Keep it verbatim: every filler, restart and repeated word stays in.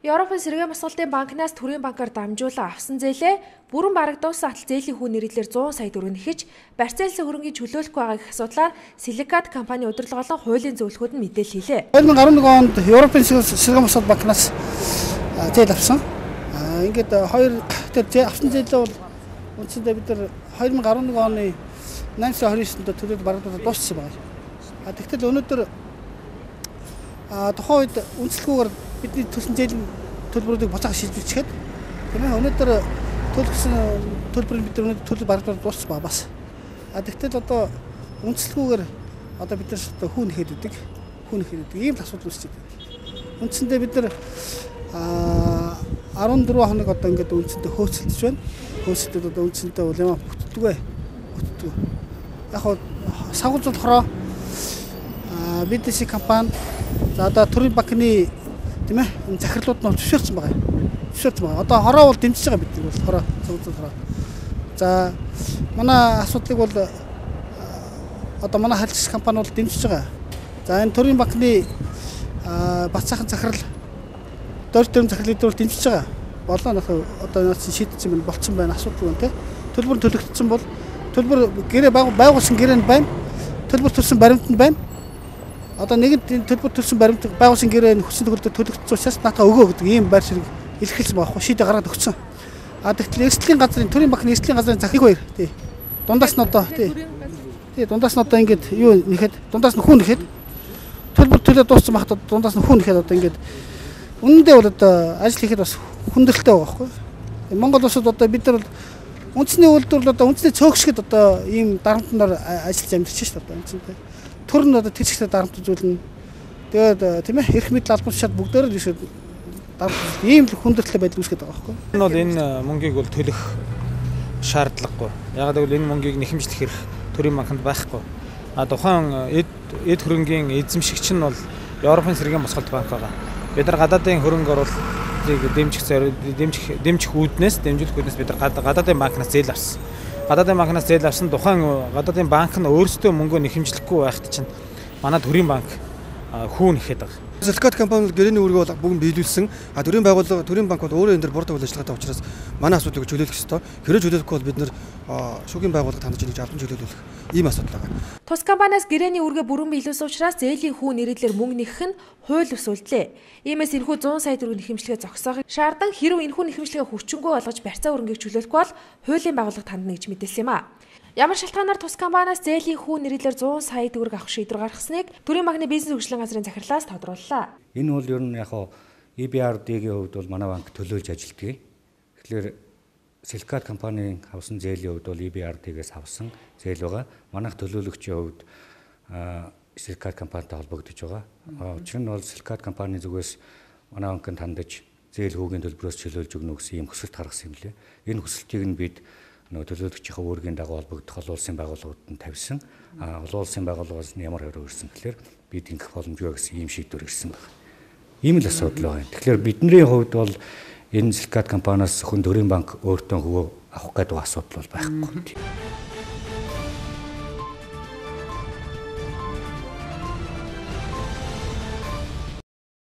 Европын сэргээн босголтын банкнаас төрийн банкар дамжуулан авсан зээлээ бүрэн барагдуулсан атал зээлийн хүү нэрэлээр зуун сая төгрөг нэхэж барьцаалсан хөрөнгийг чөлөөлөх байгаа гэх асуудлаар Силикат компани удирдлага болон хуулийн зөвлөхүүд нь мэдээлэл хийлээ. две тысячи двадцать один онд Европын сэргээн босголт банкнаас зээл авсан. Ингээд хоёр тэр зээл авсан зээлээ бол үндсэндээ бид нар две тысячи двадцать один оны найман сарын двадцать девятөнд төлөвлөлт барагдуулаад дууссан байна. А тэгтэл өнөөдөр тухайн үед үнэлэхгүйгээр бидний төлсөн зээлийн төлбөрүүдийг буцаах шийдвэрчгээд тийм ээ өнөөдөр төлсөн төлбөрийг бид өнөөдөр төлөв барагдуулаад дууссан ба бас. А тэгтэл одоо үнэлэхгүйгээр одоо бид нар хүүн нэхэд үүдэг хүүн нэхэд үүдэг ийм л асуудал үүсэж байна. Үндсэндээ бид нар арван дөрвөн хоног одоо ингээд үндсэндээ хөөцөлдөж байна. Хөөцөлдөд одоо үндсэндээ бол ямаа бүтдэг ээ. Бүтдэг. Яг хоо савгуулж болохоор би ди си компани за одоо төрийн банкны тийм ээ захирлууд нь зөвшөөрсөн байгаа. Зөвшөөрсөн байгаа. Одоо хороо бол дэмжиж байгаа бид нар бол хороо зөвхөн хороо. За манай асуудлыг бол одоо манай харилцагч компани бол дэмжиж байгаа. За энэ төрийн банкны бат цаахан захирал дөрөв төрийн захирлыг бол дэмжиж байгаа. Болоо нөх одоо нас шийдсэн байна, болцсон байна, асуудал байна тий. Төлбөр төлөгдсөн бол төлбөр гэрээ байгуулсан гэрээ нь байна. Төлбөр төлсөн баримт нь байна. Одоо нэгэн төлбөр төлсөн баримт байгуулсан гэрээ хүссэн төгөлдөр төлөгдсөн учраас наатаа өгөө гэдэг ийм байр ширэг илэрхийлсэн байгаа. Шийдэ гаргаад өгсөн. А тэгтэл эрсдлийн газрын төрийн банкны эрсдлийн газрын захирал хоёр тий. Дундаас нь одоо тий. Тий дундаас нь одоо ингээд юу нэхэд дундаас нь хүн нэхэд төлбөр төлөө дууссан багт дундаас нь хүн нэхэд одоо ингээд үнэндээ бол одоо ажил хийхэд бас хүндрэлтэй байгаа байхгүй. Монгол улсад одоо бид нар үндэсний үйлдвэрлэл одоо үндэсний цөөхшгöd одоо ийм дарамтнаар ажиллаж амьдарч шүү дээ одоо үнэндээ. Төр нь одоо тэжигтэй дарамтжуулна. Тэгээд тийм ээ эрх мэдэл албан тушаал бүгдээр л ийшээ дарамт ийм л хүндрэлтэй байдал үүсгэж байгаа байхгүй. Энэ бол энэ мөнгийг бол төлөх шаардлагагүй. Яг гэвэл энэ мөнгийг нэхэмжлэх хэрэг төрийн банкнд байхгүй. А тухайн эд эд хөрөнгийн эзэмшигч нь бол Европын сэргээн босголт банк байгаа. Бид нар гадаадын хөрөнгө оруулалтыг дэмжих дэмжих дэмжих үүднээс дэмжүүлэх үүднээс бид нар гадаадын банкнаас зээл авсан. Гадаадын банкнаас зээл авсан тухайн гадаадын банк нь өөрсдөө мөнгөө нэхэмжлэхгүй байхад чинь манай төрийн банк хүүн нэхэд байгаа. Силикат компани гэрээний үүргээ бол бүгд биелүүлсэн. А төрийн байгууллага төрийн банк бол өөрөө энэ дээр бордог ажиллагаатай учраас манай асуудлыг чөлөөлөх ёстой. Хэрэг чөлөөлөхгүй бол бид нэр шүүхийн байгууллагад хандаж ингэж албан чөлөөлөх ийм асуудал байгаа. Тус компаниас гэрээний үүргээ бүрэн биелүүлсэн учраас зээлийн хүү нэрэлээр мөнгө нэхэх нь хууль бус үйлдэлээ. Иймээс энэхүү зуун сая төгрөг нэхэмжлэгээ зогсоохыг шаардсан хэрв энэхүү нэхэмжлэгээ хүрчингүй болгож барьцаа хөрөнгийг чөлөөлөхгүй бол хуулийн байгууллагад хандна гэж мэдээлсэн юм а. Ямар шалтгаанаар тус компаниас зээлийн хүү нэрэлээр зуун сая төгрөг авах шийдвэр гаргасныг төрийн банкны бизнес хөгжлийн газрын захирлаас тодрууллаа. Энэ бол ер нь яг и би ар ди-ийн хувьд бол манай банк төлөөлж ажилтдаг. Тэгэхээр Силикат компанийн авсан зээлийн хувьд бол и би ар ди-гээс авсан зээл байгаа. Манайх төлөөлөгчийн хувьд Силикат компанитай холбогдож байгаа. Учир нь бол Силикат компани зүгээс манай банкнд хандаж зээл хүүгийн төлбөрөөс чөлөөлж өгнө гэсэн ийм хүсэлт гаргасан юм лээ. Энэ хүсэлтийг нь бид нөгөө төлөөлөгчийн үүргийн дагуу холбогдох олон улсын байгууллагууд нь тавьсан. А олон улсын байгууллагаас нь ямар хариу ирсэн гэхээр бид ингэх боломжгүй гэсэн ийм шийдвэр ирсэн байна. Ийм л асуудал байна. Тэгэхээр бидний хувьд бол энэ Силикат компаниас зөвхөн төрийн банк өөртөө хөвөө авах гэдэг асуудал бол байхгүй.